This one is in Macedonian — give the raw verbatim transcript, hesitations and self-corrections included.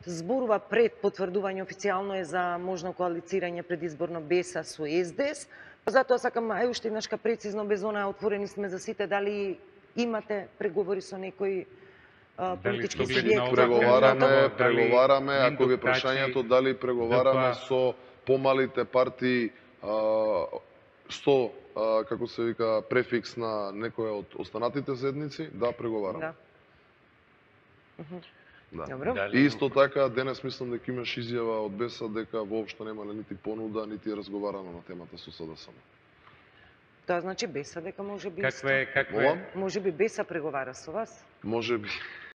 зборува пред потврдување официјално е за можно коалицирање предизборно БЕСА со СДС. Затоа сакам ај уште еднашка прецизно, без она отворени сме за сите, дали имате преговори со некои политички субјекти? Преговараме, преговараме, ако ви прашањето дали преговараме со помалите партии со, како се вика, префикс на некоја од останатите седници, да, преговараме. Да. Да. И исто така, денес мислам дека имаш изјава од БЕСА дека воопшто немале нити понуда, нити разговарано на темата со СДСМ. Тоа значи БЕСА дека може би Каква е, каква е? Може би БЕСА преговара со вас? Може би.